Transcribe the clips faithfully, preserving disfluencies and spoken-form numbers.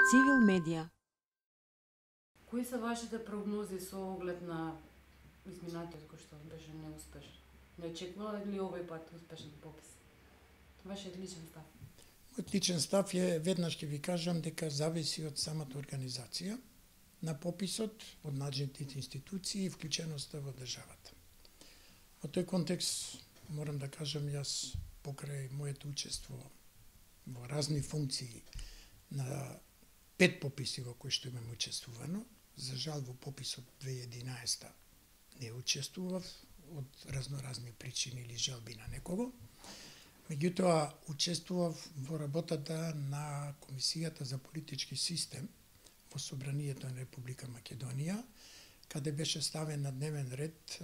Цивил медија. Кои се вашите прогнози со оглед на изминатиот кој што беше неуспешен? Не очекувала ли овој пат успешен попис? Вашиот личен став? Мојот личен став е, веднаш ќе ви кажам, дека зависи од самата организација на пописот, од надлежните институции и вклученоста во државата. Во тој контекст морам да кажам јас покрај моето учество во разни функции на пет пописи во кои што имам учествувано, за жал во пописот две илјади и единаесета не учествував од разноразни причини или желби на некого. Меѓутоа, учествував во работата на Комисијата за политички систем во Собранието на Република Македонија, каде беше ставен на дневен ред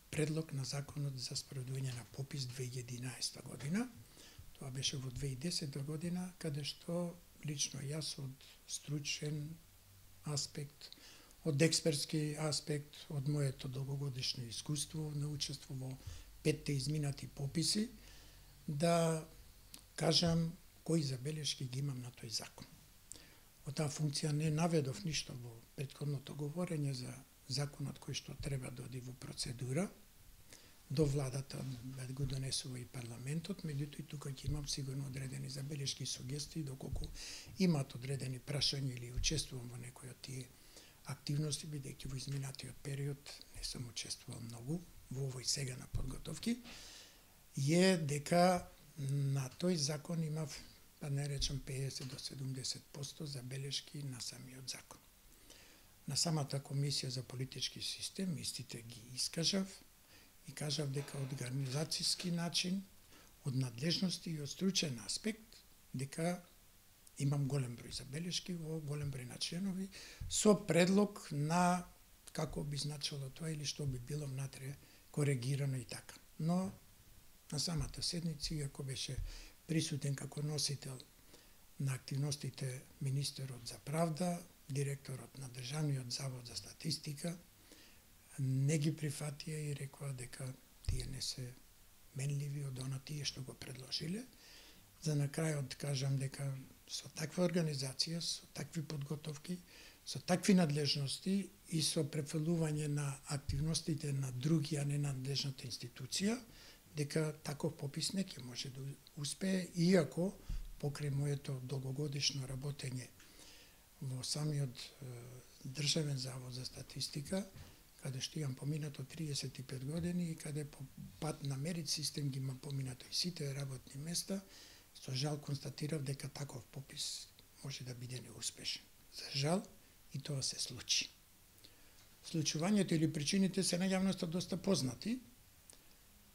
предлог на Законот за спроведување на попис две илјади и единаесета година. Тоа беше во две илјади и десета година, каде што лично јас од стручен аспект, од експертски аспект, од моето долгогодишно искуство на учество во петте изминати пописи, да кажам кои забелешки ги имам на тој закон. Во таа функција не наведов ништо во претходното говорење за законот кој што треба да оди во процедура до владата да го донесува и парламентот, меѓутоа и тука ќе имам сигурно одредени забелешки и сугестии доколку имаат одредени прашања или учествувам во некои од тие активности, бидејќи во изминатиот период не сум учествувал многу во овој сега на подготовки, е дека на тој закон имав, да не речам педесет до седумдесет проценти забелешки на самиот закон. На самата Комисија за политички систем истите ги искажав и кажав дека од организацијски начин, од надлежности и од стручен аспект, дека имам голем број забелешки во голем број на членови со предлог на како би значило тоа или што би било внатре коригирано и така. Но на самата седница, иако беше присутен како носител на активностите министерот за правда, директорот на Државниот завод за статистика, не ги прифатија и рекоа дека тие не се менливи од она тие што го предложиле. За на крајот кажам дека со таква организација, со такви подготовки, со такви надлежности и со префрлување на активностите на други, а не надлежната институција, дека таков попис не ќе може да успее, иако покрај моето долгогодишно работење во самиот е, Државен завод за статистика, каде што имам поминато триесет и пет години и каде по пат на мерит систем ги имам поминато и сите работни места, со жал констатирав дека таков попис може да биде неуспешен. За жал и тоа се случи. Случувањето или причините се на јавноста доста познати.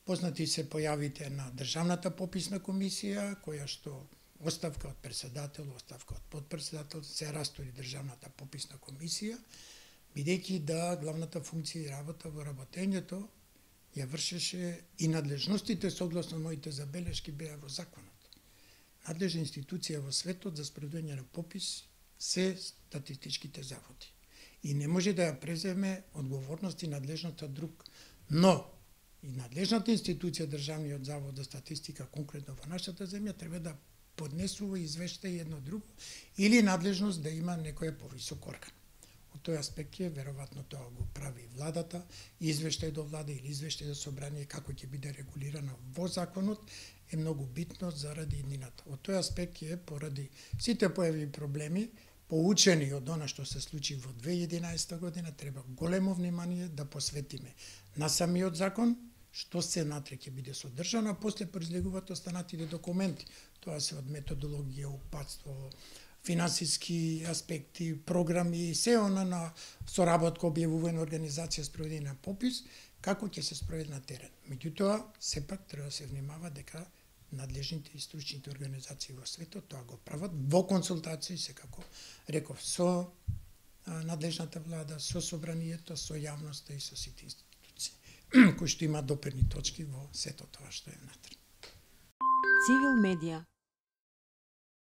Познати се појавите на Државната пописна комисија, која што оставка од председател, оставка од подпредседател, се растори Државната пописна комисија, бидејќи да главната функција и работа во работењето ја вршеше и надлежностите согласно моите забелешки беа во законот. Надлежна институција во светот за спроведување на попис се статистичките заводи. И не може да ја преземе одговорност и надлежноста друг. Но и надлежната институција Државниот завод за статистика, конкретно во нашата земја, треба да поднесува извештај едно друго или надлежност да има некој повисок орган. Од тој аспект е, веројатно тоа го прави и владата, извештај до влада или извештај до собрание, како ќе биде регулирано во законот, е многу битно заради иднината. Од тој аспект е, поради сите појави проблеми, поучени од она што се случи во две илјади и единаесета година, треба големо внимание да посветиме на самиот закон, што се натре ќе биде содржано, а после произлегуваат останатите документи. Тоа се од методологија, упатство, финансиски аспекти, програми, се она на соработка, објавување организација спроведување на попис, како ќе се спроведе на терен. Меѓутоа, сепак треба да се внимава дека надлежните и стручните организации во светот тоа го прават во консултации, секако реков, со надлежната влада, со собранието, со јавноста и со сите институции, кои што имаат допирни точки во сето тоа што е внатре. Цивил медија.